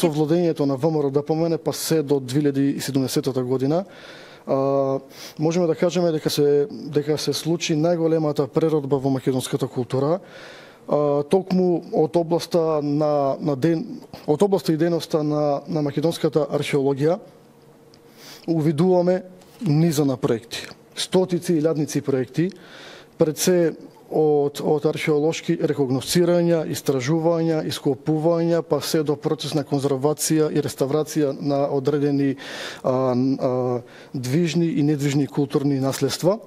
со владењето на ВМРО ДПМН па се до 2070 година, можеме да кажеме дека се случи најголемата преродба во македонската култура, токму од областа и дејноста на македонската археологија. Увидуваме низа на проекти, стотици и илјадници проекти, пред се од археолошки рекогносцирања, истражувања, ископувања, па се до процес на конзервација и реставрација на одредени движни и недвижни културни наследства.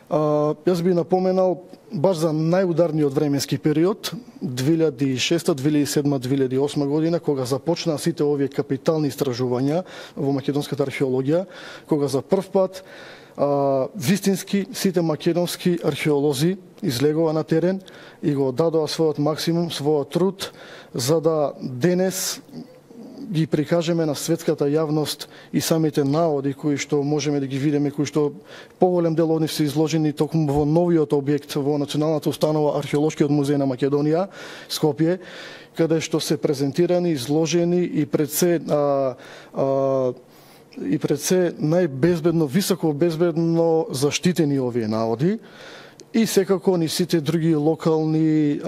Јас би напоменал баш за најударниот временски период 2006, 2007, 2008 година, кога започнаа сите овие капитални истражувања во македонската археологија, кога за прв пат вистински сите македонски археолози излегува на терен и го дадоа својот максимум, својот труд, за да денес ги прикажеме на светската јавност и самите наоди кои што можеме да ги видиме, кои што поголем дел од нив се изложени токму во новиот објект во Националната установа Археолошкиот музеј на Македонија, Скопје, каде што се презентирани, изложени и пред се најбезбедно, високо безбедно заштитени овие наоди, и секако ни сите други локални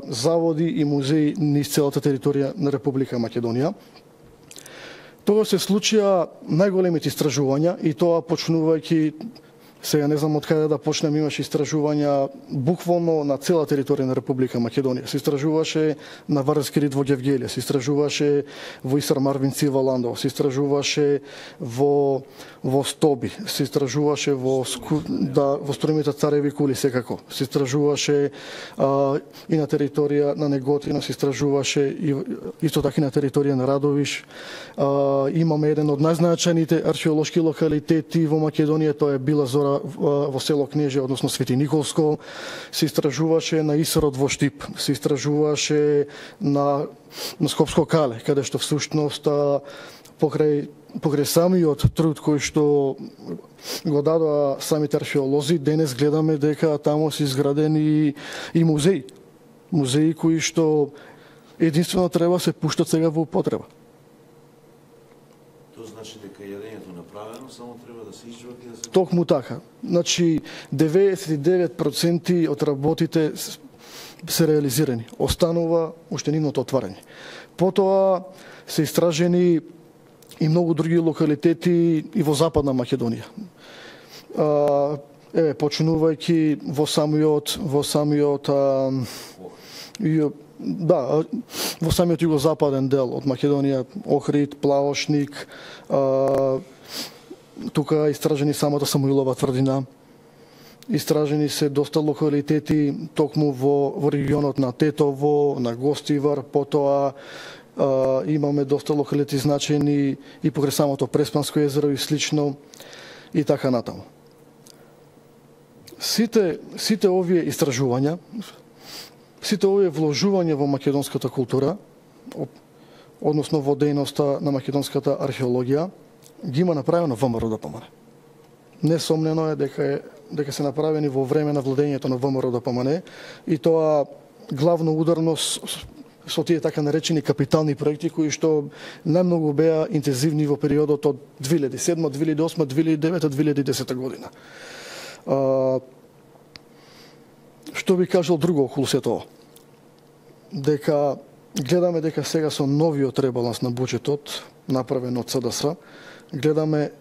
заводи и музеи низ целата територија на Република Македонија. Тоа се случија најголемите истражувања и тоа почнувајќи, сега не знам од каде да почнем, имаше истражувања буквално на цела територија на Република Македонија. Се истражуваше на Вардарски рид во Гевгелија, се истражуваше во Исар Марвинци во Ландово, се истражуваше во Стоби, се истражуваше во струимите Цареви кули секако, се истражуваше и на територија на Неготино, се истражуваше и исто така и на територија на Радовиш. Имаме еден од најзначајните археолошки локалитети во Македонија, тоа е Била Зора во село Кнежа, односно Свети Николско, се истражуваше на Исарот во Штип, се истражуваше на Скопско Кале, каде што всушност покрај самиот труд кој што го дадоа самите археолози, денес гледаме дека таму се изградени и музеи. Музеи кои што единствено треба се пуштат сега во употреба. Тоа значи дека јадењето направено, само треба да се изживат и да се... Токму така. Значи, 99% од работите се реализирани. Останува уште нивното отварање. Потоа се истражени и многу други локалитети и во Западна Македонија. Почнувајќи во самиот југозападен дел од Македонија, Охрид, Плавошник, тука истражени самата Самуилова тврдина. Истражени се доста локалитети токму во регионот на Тетово, на Гостивар, потоа имаме доста локалити значени и покрај самото Преспанско езеро и слично и така натаму. Сите овие истражувања, сите овие вложувања во македонската култура, односно во дејноста на македонската археологија, ги има направено ВМРО ДПМН. Несомнено е дека се направени во време на владењето на ВМРО ДПМН и тоа главно ударно со тие така наречени капитални проекти кои што најмногу беа интензивни во периодот од 2007, 2008, 2009, 2010 година. Што би кажал друго околу се тоа? Дека гледаме дека сега со новиот ребаланс на буџетот направен од СДС, гледаме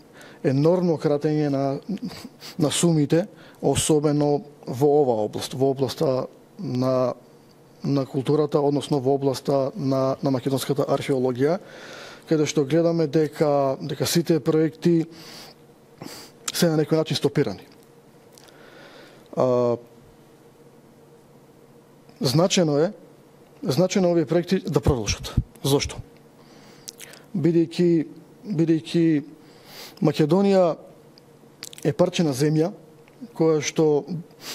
енормно кратење на сумите, особено во оваа област, во областа на културата, односно во областа на македонската археологија, каде што гледаме дека сите проекти се на некој начин стопирани. Значено е овие проекти да продолжат. Зошто? Бидејќи Македонија е парче на земја која што,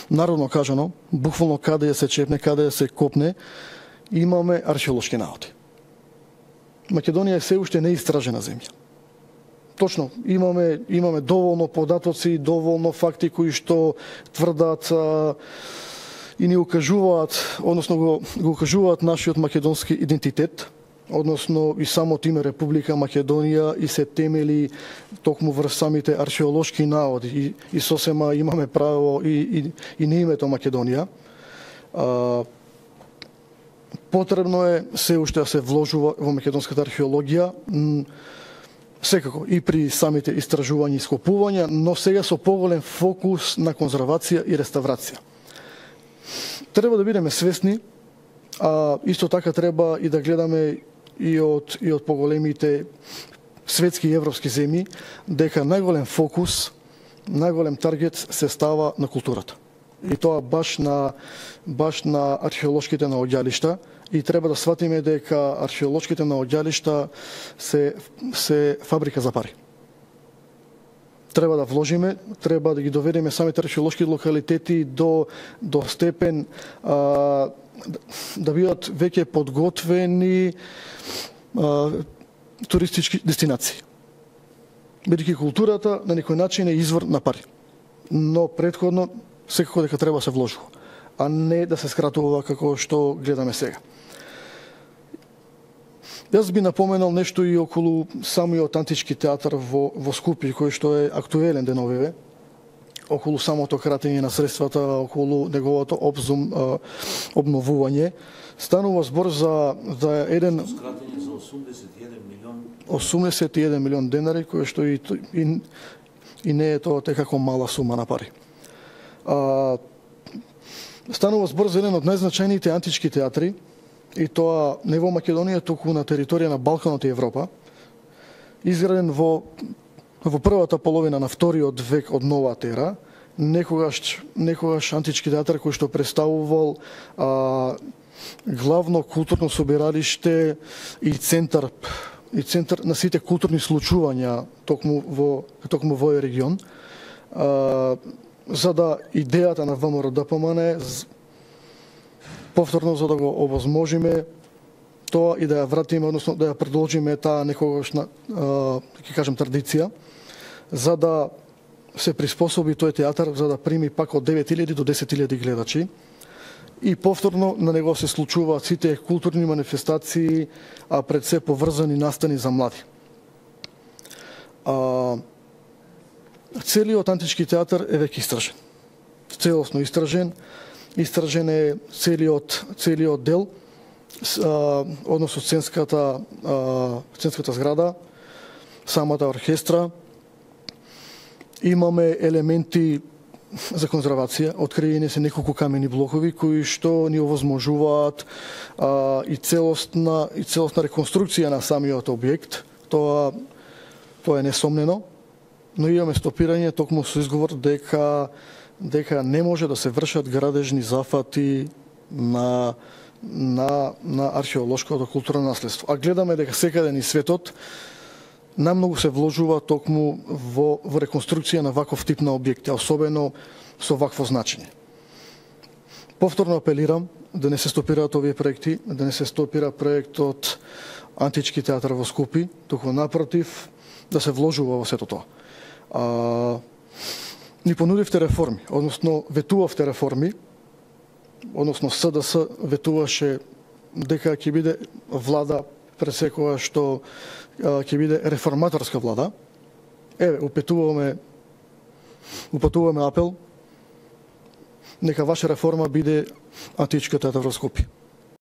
народно кажано, буквално каде ја се чепне, каде ја се копне, имаме археолошки наоди. Македонија е се уште неистражена земја. Точно, имаме доволно податоци, доволно факти кои што тврдат и ни укажуваат, односно го укажуваат нашиот македонски идентитет, односно и самото име Република Македонија и се темели токму врз самите археолошки наоди и сосема имаме право и на името Македонија. Потребно е се уште да се вложува во македонската археологија, секако и при самите истражувања и скопувања, но сега со поголем фокус на конзервација и реставрација. Треба да бидеме свесни, а исто така треба и да гледаме и од поголемите светски и европски земји, дека најголем фокус, најголем таргет се става на културата. И тоа баш на археолошките наоѓалишта, и треба да сватиме дека археолошките наоѓалишта се фабрика за пари. Треба да вложиме, треба да ги доведеме самите археолошки локалитети до степен да бидат веќе подготвени туристички дестинации. Бидејќи културата на некој начин е извор на пари. Но претходно секако дека треба да се вложува, а не да се скратува како што гледаме сега. Јас би напоменал нешто и околу самиот антички театар во Скупје, кој што е актуелен деновиве, околу самото кратење на средствата, околу неговото обновување. Станува збор за еден Скратење за 81 милион денари, кој што и не е тоа како мала сума на пари. Станува збор за еден од најзначајните антички театри, и тоа не во Македонија, туку на територија на Балканот и Европа, изграден во првата половина на вториот век од новата ера, некогаш антички театар кој што представувал главно културно собиралиште и центар на сите културни случувања токму во овој регион, за да идејата на ВМРО ДПМН повторно за да го овозможиме тоа и да ја вратиме, односно да ја продолжиме таа некогашна, ќе кажем, традиција, за да се приспособи тој театар за да прими пак од 9.000 до 10.000 гледачи. И повторно на него се случуваат сите културни манифестации, а пред се поврзани настани за млади. Целиот антички театар е веќе истражен. Целосно истражен. Истражен е целиот дел, односно сценската зграда, самата оркестра. Имаме елементи за конзервација, откриени се неколку камени блокови кои што ни овозможуваат и целосна реконструкција на самиот објект. Тоа е несомнено, но имаме стопирање токму со изговор дека не може да се вршат градежни зафати на археолошкото културно наследство. А гледаме дека секаде низ светот намногу се вложува токму во реконструкција на ваков тип на објекти, особено со вакво значење. Повторно апелирам да не се стопираат овие проекти, да не се стопира проектот Антички театар во Скупи, туку напротив да се вложува во сето тоа. Ни понудивте реформи, односно ветувавте реформи, односно СДС ветуваше дека ќе биде влада пред секоја што ќе биде реформаторска влада. Еве, упатуваме апел, нека ваша реформа биде Античка театар во Скопје.